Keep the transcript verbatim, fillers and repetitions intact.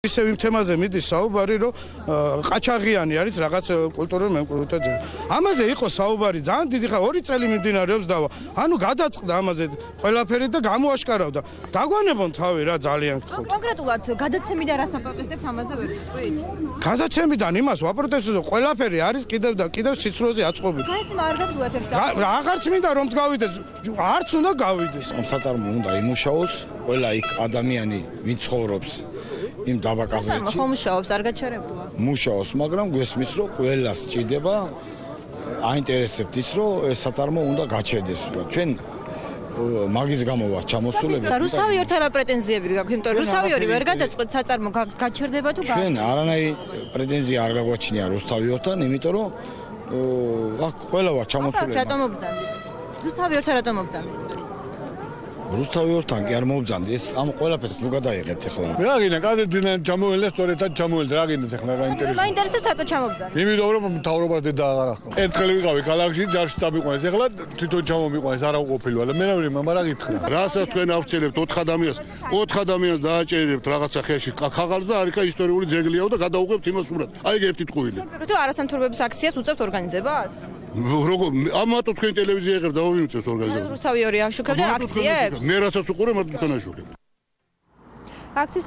ისევ იმ თემაზე მიდის საუბარი, რომ ყაჩაღიანი არის რაღაც კულტურული მემკვიდრეობა ძეგლი. ამაზე იყო საუბარი ძალიან დიდი ხანი, ორი წელი მიმდინარეობს და ანუ გადაწყდა ამაზე ყველაფერი და გამოაშკარავდა. დაგვანებონ თავი რა ძალიან გთხოვთ. კონკრეტულად გადაცემიდან რას აპროტესტებთ ამაზე ვერ გიტყვით? გადაცემიდან იმას ვაპროტესტებთ, რომ ყველაფერი არის კიდევ და კიდევ სიცრუეზე აწყობილი. გაეცემა არ გასულა ეთერში. აღარც მინდა რომ გავიდეს, არც უნდა გავიდეს. საწარმო უნდა იმუშაოს, ყველა იქ ადამიანი ვინ ცხოვრობს იმ დაბაკაზეთში მუშაობს, არ გაჩერებულა. მუშაობს, მაგრამ გვესმის რომ ყველას სჭირდება აინტერესებთ ის რომ ეს საწარმო უნდა გაჩერდეს. ჩვენ მაგის გამო ვარ ჩამოსულები. და რუსთავი ორ რა პრეტენზიები გაქვთ? იმიტომ რომ რუსთავი ორი ვერ გადაწყვეტ საწარმო გაჩერდება თუ ჩვენ არანაირი პრეტენზია არ გაგვაჩნია რუსთავი ორთან, იმიტომ რომ აქ ყველა ვარ ჩამოსულები. რატომ მობრძანდით? რუსთავი ორ რატომ მობრძანდით? რუსთავი ორთან კი არ მოვბრძანდი, ეს ამ ყველაფერს ნუ გადაიღებთ ახლა. რა გინდა, კადედინა ჩამოველა, სწორედად ჩამოველა, რა გინდა ახლა რა ინტერესებს? მაინტერესებს რატო ჩამობძანეთ? იმიტომ რომ მთავრობას დედა აღარ ახლა. ერთხელ ვიყავი ქალაქში, ჯარში დამიყვანეს, ახლა თვითონ ჩამომიყვანეს, არა უყოფილოა. მე რა მარა რა გითხრა? რასაც თქვენ ავცელებთ ოთხ ადამიანს, ოთხ ადამიანს დააჭერებთ რაღაცა ხეში ქაღალდს და არიქა ისტორიული ძეგლიაო და გადაუღებთ იმას სურათს. აი ერთი ტყუილი. თუ არასამთავრობო აქციას უწევთ ორგანიზებას? როგორ ამათო თქვენ ტელევიზია იღებთ და ვინუწევს ორგანიზებას? რუსთავი ორი აშუქებდა აქციებს? მე რასაც უყურე, მარტო თქვენ აშუქებთ. აქციის